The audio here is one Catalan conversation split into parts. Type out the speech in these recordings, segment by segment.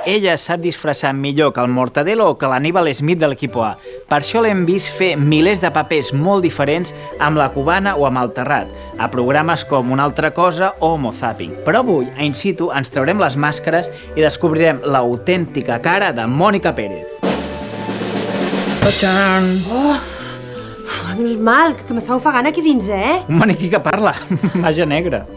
Ella sap disfressar millor que el Mortadelo o que l'Aníbal Smith de l'equip A. Per això l'hem vist fer milers de papers molt diferents amb la cubana o amb el Terrat, a programes com Una altra cosa o Homo Zapping. Però avui, a In Situ, ens traurem les màscares i descobrirem l'autèntica cara de Mònica Pérez. Tachan! Menys mal, que m'està ofegant aquí dins, Un maniquí que parla, màgia negra.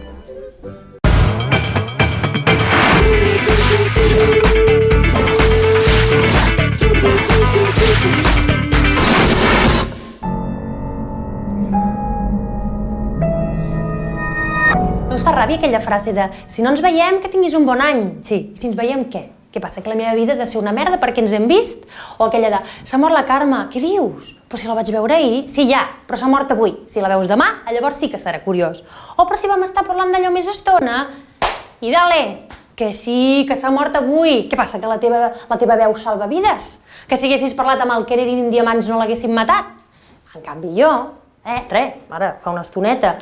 No us fa ràbia aquella frase de si no ens veiem, que tinguis un bon any? Sí, si ens veiem, què? Què passa, que la meva vida ha de ser una merda perquè ens hem vist? O aquella de s'ha mort la Carme, què dius? Però si la vaig veure ahir, sí ja, però s'ha mort avui. Si la veus demà, llavors sí que serà curiós. O però si vam estar parlant d'allò més estona, i dale, que sí, que s'ha mort avui. Què passa, que la teva veu salva vides? Que si haguessis parlat amb el Kennedy en diamants no l'haguessin matat? En canvi jo, ara, fa una estoneta,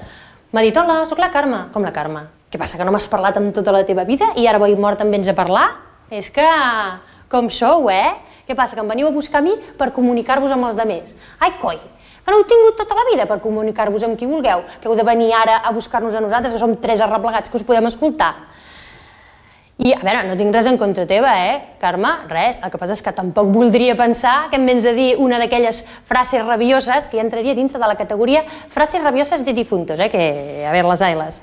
m'ha dit, hola, sóc la Carme. Com la Carme? Què passa, que no m'has parlat amb tota la teva vida i ara avui mort em vens a parlar? És que, com sou, Què passa, que em veniu a buscar a mi per comunicar-vos amb els altres? Ai, coi, que no heu tingut tota la vida per comunicar-vos amb qui vulgueu, que heu de venir ara a buscar-nos a nosaltres, que som 3 arreplegats que us podem escoltar. I, a veure, no tinc res en contra teva, Carme, res. El que passa és que tampoc voldria pensar que em vens a dir una d'aquelles frases rabioses, que ja entraria dintre de la categoria frases rabioses de difuntos, que a veure les ailes.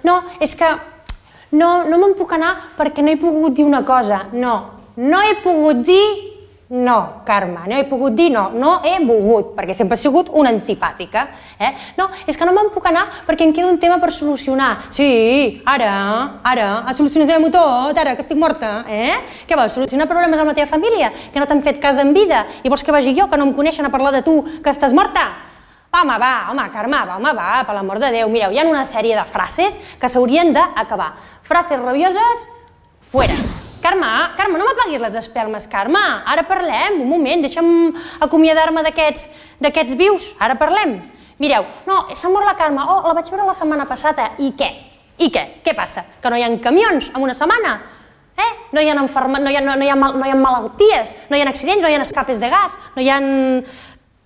No, és que no me'n puc anar perquè no he pogut dir una cosa. No he pogut dir no, Carme, no he pogut dir no he volgut, perquè sempre he sigut una antipàtica. No, és que no me'n puc anar perquè em queda un tema per solucionar. Sí, ara, solucionem-ho tot, ara que estic morta. Què vols, solucionar problemes amb la teva família, que no t'han fet cas en vida, i vols que vagi jo, que no em coneixen, a parlar de tu, que estàs morta? Home, Carme, per l'amor de Déu. Mireu, hi ha una sèrie de frases que s'haurien d'acabar. Frases rabioses, fuera. Carme, no m'apaguis les espelmes, Carme. Ara parlem, un moment, deixa'm acomiadar-me d'aquests vius. Ara parlem. Mireu, no, s'ha mort la Carme. Oh, la vaig veure la setmana passada. I què? Què passa? Que no hi ha camions en una setmana? No hi ha malalties, no hi ha accidents, no hi ha escapes de gas, no hi ha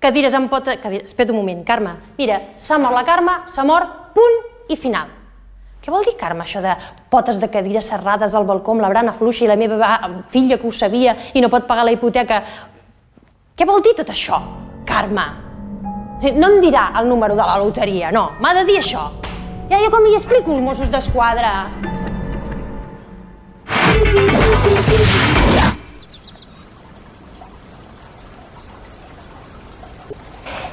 cadires amb potes... Espera un moment, Carme. Mira, s'ha mort la Carme, s'ha mort, punt i final. Què vol dir, Carme, això de potes de cadires serrades al balcó amb la brana fluixa i la meva filla que ho sabia i no pot pagar la hipoteca? Què vol dir tot això, Carme? No em dirà el número de la loteria, no, m'ha de dir això. Ja com li explico als Mossos d'Esquadra.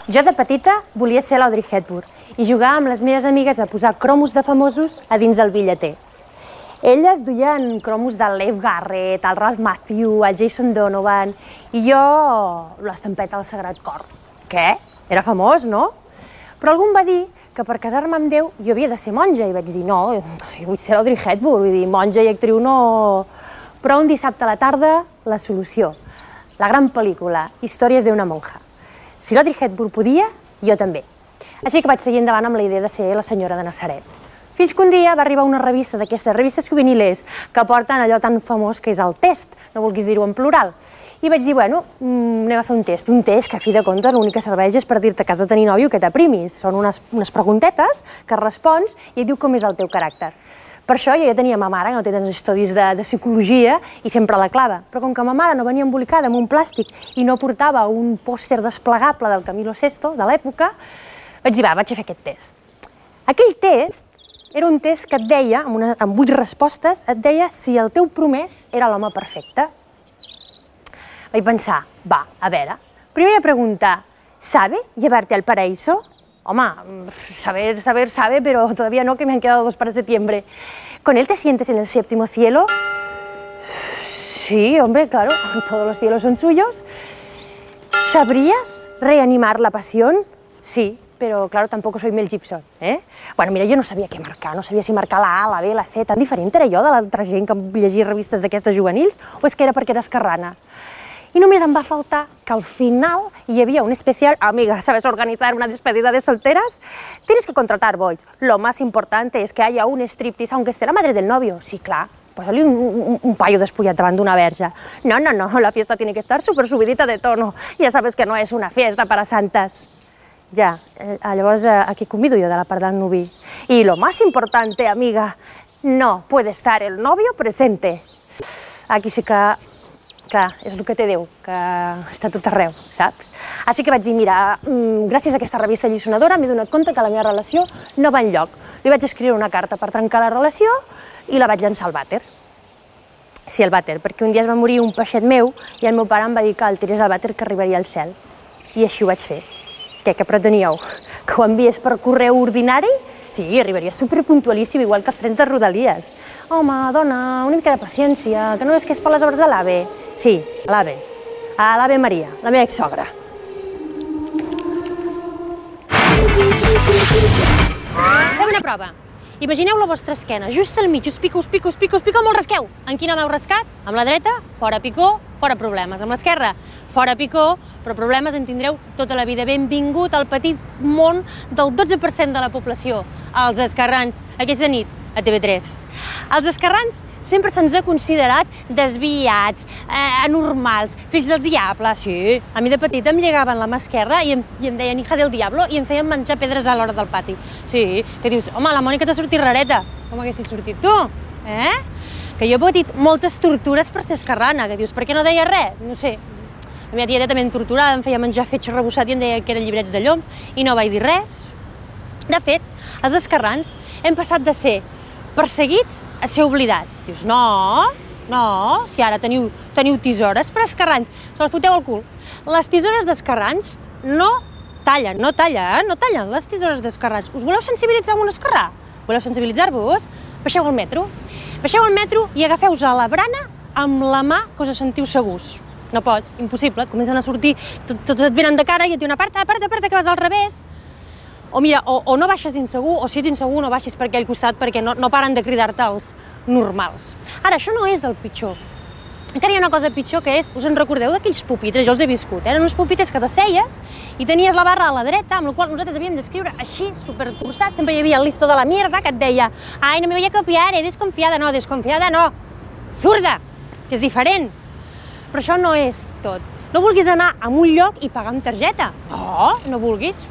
Jo de petita volia ser l'Audrey Hepburn i jugar amb les meves amigues a posar cromos de famosos a dins el bitlleter. Elles duien cromos del Leif Garrett, el Ralph Macchio, el Jason Donovan i jo l'estampeta del Sagrat Cor. Què? Era famós, no? Però algú em va dir que per casar-me amb Déu jo havia de ser monja i vaig dir no, jo vull ser l'Audrey Hepburn, vull dir monja i actriu no... Però un dissabte a la tarda, la solució. La gran pel·lícula, Històries d'una monja. Si l'Audrey Hepburn podia, jo també. Així que vaig seguir endavant amb la idea de ser la senyora de Nazaret. Fins que un dia va arribar una revista d'aquestes revistes juvenilers que porten allò tan famós que és el test, no vulguis dir-ho en plural. I vaig dir, bueno, anem a fer un test que a fi de comptes l'únic que serveix és per dir-te que has de tenir nòvio que t'aprimis. Són unes preguntetes que respons i et diu com és el teu caràcter. Per això jo ja tenia ma mare, que no té tants estudis de psicologia, i sempre la clava. Però com que ma mare no venia embolicada amb un plàstic i no portava un pòster desplegable del Camilo VI de l'època, vaig dir, va, vaig a fer aquest test. Aquell test era un test que et deia, amb 8 respostes, et deia si el teu promès era l'home perfecte. Vaig pensar, va, a veure, primera pregunta, ¿sabe llevarte al paraíso? Home, sabe, pero todavía no, que me han quedado 2 para septiembre. ¿Con él te sientes en el 7º cielo? Sí, hombre, claro, todos los cielos son suyos. ¿Sabrías reanimar la pasión? Sí, pero claro, tampoco soy Mel Gibson, Bueno, mira, jo no sabia què marcar, no sabia si marcar la A, la B, la C, tan diferent era jo de l'altra gent que llegia revistes d'aquestes juvenils, o és que era perquè era esquerrana? Y només em va faltar que al final hi havia un especial, amiga, ¿sabes organizar una despedida de solteras? Tienes que contratar boys. Lo más importante es que haya un striptease, aunque esté la madre del novio. Sí, clar, Posa-li un paio despullat davant d'una verge. No, la fiesta tiene que estar súper subidita de tono. Ya sabes que no es una fiesta para santas. Ja, llavors aquí convido jo de la part del nuvi. Y lo más importante, amiga, no puede estar el novio presente. Aquí sí que, clar, és el que té Déu, que està tot arreu, saps? Així que vaig dir, mira, gràcies a aquesta revista alliçonadora m'he donat compte que la meva relació no va enlloc. Li vaig escriure una carta per trencar la relació i la vaig llançar al vàter. Sí, al vàter, perquè un dia es va morir un peixet meu i el meu pare em va dir que el tirés al vàter que arribaria al cel. I així ho vaig fer. Què preteníeu? Que ho enviés per correu ordinari? Sí, arribaria superpuntualíssim, igual que els trens de Rodalies. Home, dona, una mica de paciència, que no és que és per les obres de l'AVE. Sí, a l'AVE. A l'AVE Maria, la meva exsogra. Fem una prova. Imagineu la vostra esquena, just al mig, us pica molt rasqueu. En quina mà heu rascat? Amb la dreta, fora picó, fora problemes. Amb l'esquerra, fora picó, però problemes en tindreu tota la vida. Benvingut al petit món del 12% de la població, els esquerrans, aquesta nit, a TV3. Els esquerrans sempre se'ns ha considerat desviats, anormals, fills del diable, sí. A mi de petit em llegaven la mà esquerra i em deien hija del diablo i em feien menjar pedres a l'hora del pati. Sí, que dius, home, la Mònica t'ha sortit rareta. Com haguessis sortit tu, eh? Que jo he patit moltes tortures per ser esquerrana, que dius, per què no deia res? No sé. La meva tieta també em torturava, em feia menjar fetge rebossat i em deia que eren llibrets de llom i no vaig dir res. De fet, els esquerrans hem passat de ser perseguits a ser oblidats. Dius, no, si ara teniu tisores per esquerrans, se les foteu al cul. Les tisores d'esquerrans no tallen les tisores d'esquerrans. Us voleu sensibilitzar amb un esquerrà? Voleu sensibilitzar-vos? Baixeu al metro. Baixeu al metro i agafeu-vos a la brana amb la mà que us sentiu segurs. No pots, impossible, comencen a sortir, tots et venen de cara i et diuen aparta, que vas al revés. O mira, o no baixes insegur, o si ets insegur no baixis per aquell costat perquè no paren de cridar-te els normals. Ara, això no és el pitjor. Encara hi ha una cosa pitjor que és, us en recordeu d'aquells pupitres? Jo els he viscut, eren uns pupitres que t'asseies i tenies la barra a la dreta, amb la qual nosaltres havíem d'escriure així, supertorçat, sempre hi havia el listo de la mierda que et deia ai, no me voy a copiar, desconfiada no, zurda, que és diferent. Però això no és tot. No vulguis anar a un lloc i pagar amb targeta. No vulguis.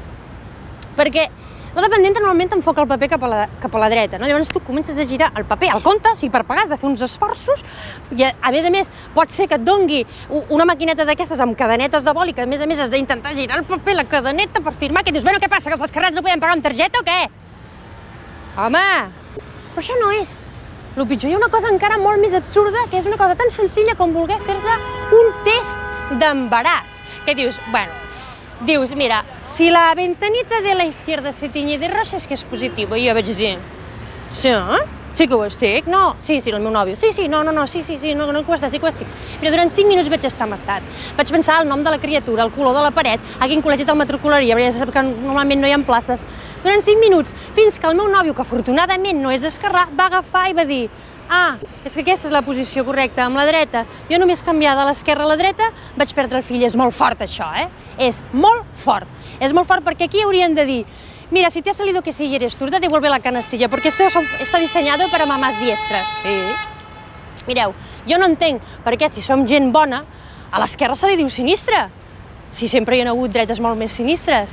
Perquè la dependenta normalment enfoca el paper cap a la dreta, no? Llavors tu comences a girar el paper al compte, o sigui, per pagar has de fer uns esforços i a més pot ser que et dongui una maquineta d'aquestes amb cadenetes de boli que a més has d'intentar girar el paper, la cadeneta per firmar, que dius, bueno, què passa, que els esquerrans no podem pagar amb targeta o què? Home, però això no és el pitjor. Hi ha una cosa encara molt més absurda, que és una cosa tan senzilla com voler fer-se un test d'embaràs, que dius, dius, mira, si la ventanita de la izquierda se tiñe de rosa és que és positiu. I jo vaig dir, sí que ho estic? No, sí, el meu nòvio. Sí, no que ho estàs, sí que ho estic. Mira, durant 5 minuts vaig estar amastat. Vaig pensar el nom de la criatura, el color de la paret, a quin col·legi te'l matricularia, perquè ja se sap que normalment no hi ha places. Durant 5 minuts, fins que el meu nòvio, que afortunadament no és esquerrà, va agafar i va dir és que aquesta és la posició correcta, amb la dreta. Jo només canviar de l'esquerra a la dreta vaig perdre el fill. És molt fort això, És molt fort. És molt fort perquè aquí haurien de dir mira, si te ha salido que sí y eres zurda, devuelve la canastilla, porque esto está diseñado para mamás diestras. Sí. Mireu, jo no entenc per què si som gent bona, a l'esquerra se li diu sinistra. Si sempre hi ha hagut dretes molt més sinistres.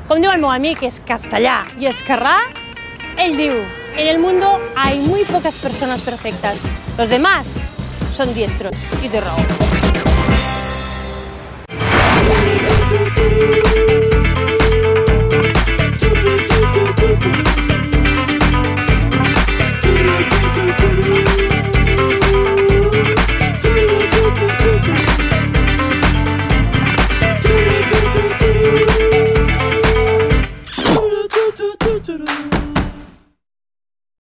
Com diu el meu amic, és castellà i esquerrà, ell diu, en el mundo hay muy pocas personas perfectas. Los demás son diestros y de raó.